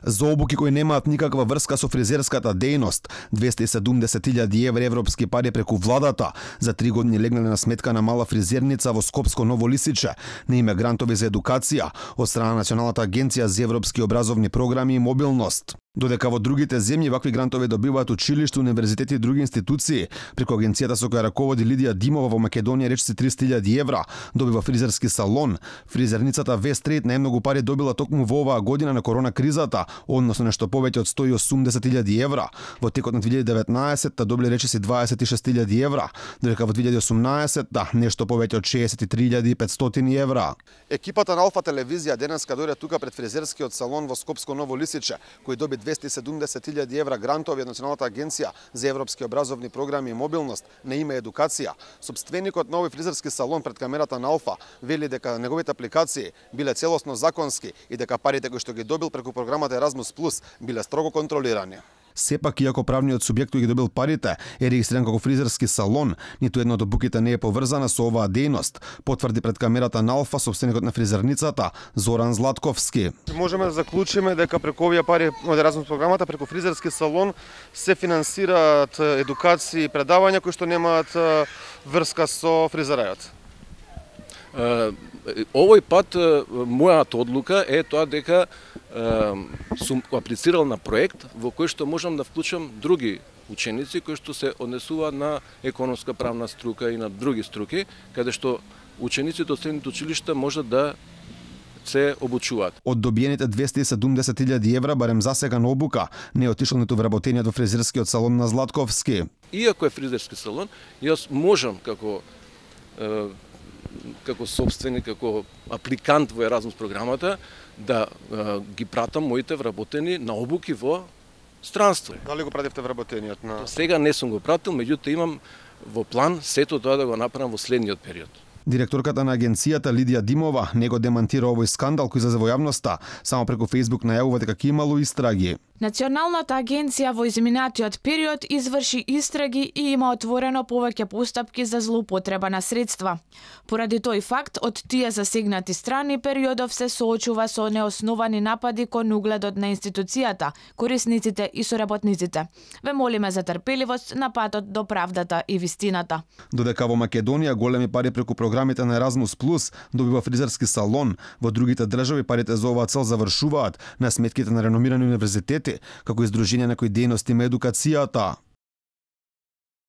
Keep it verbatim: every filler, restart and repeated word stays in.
За обуки кои немаат никаква врска со фризерската дејност, двесте и седумдесет илјади евра европски пари преку владата за три години легнале на сметка на мала фризерница во Скопско Ново Лисиче на име грантови за едукација од страна на Националната агенција за европски образовни програми и мобилност. Додека во другите земји вакви грантови добиваат училишта, универзитети и други институции, преку агенцијата со која раководи Лидија Димова во Македонија речиси триста илјади евра добива фризерски салон, фризерницата Вестрейт најмногу пари добила токму во оваа година на корона кризата, односно нешто повеќе од сто и осумдесет илјади евра. Во текот на две илјади и деветнаесетта добили речиси дваесет и шест илјади евра, додека во две илјади и осумнаесетта нешто повеќе од шеесет и три илјади и петстотини евра. Екипата на Алфа телевизија денеска дојде тука пред фризерскиот салон во Скопско Ново Лисиче, кој доби двесте и седумдесет илјади евра грантови од Националната агенција за европски образовни програми и мобилност на име едукација. Собственикот на овој фризерски салон пред камерата на Алфа вели дека неговите апликации биле целосно законски и дека парите кои што ги добил преку програмата Еразмус плюс биле строго контролирани. Сепак, иако правниот субјект кој ги добил парите е регистриран како фризерски салон, ниту едно од обуките не е поврзана со оваа дејност, потврди пред камерата на Алфа собственикот на фризерницата Зоран Златковски. Можеме да заклучиме дека преку овие пари од Еразмус програмата преку фризерски салон се финансираат едукации и предавања кои што немаат врска со фризерајот. Овој пат мојата одлука е тоа дека сум аплицирал на проект во кој што можам да вклучам други ученици кои што се однесуваат на економска правна струка и на други струки, каде што учениците од средните училишта можат да се обучуваат. Од добиените двесте и седумдесет илјади евра барем засега на обука не отишол ниту вработениот во фризерскиот салон на Златковски. Иако е фризерски салон, јас можам како како собственик, како апликант во Еразмус програмата, да е, ги пратам моите вработени на обуки во странство. Дали го пративте вработениот на? Сега не сум го пратил, меѓутоа имам во план сето тоа да го направам во следниот период. Директорката на агенцијата Лидија Димова не го демантира овој скандал кој излезе во јавноста, само преку Facebook најавува дека ќе имало истраги. Националната агенција во изминатиот период изврши истраги и има отворено повеќе постапки за злоупотреба на средства. Поради тој факт, од тие засегнати страни периодов се соочува со неосновани напади кон угледот на институцијата, корисниците и соработниците. Ве молиме за трпеливост на патот до правдата и вистината. Додека во Македонија големи пари преку програмите на Еразмус плюс добива фризерски салон, во другите држави парите за оваа цел завршуваат на сметките на реномирани универзитети, како издружение на кои дејности има едукацијата.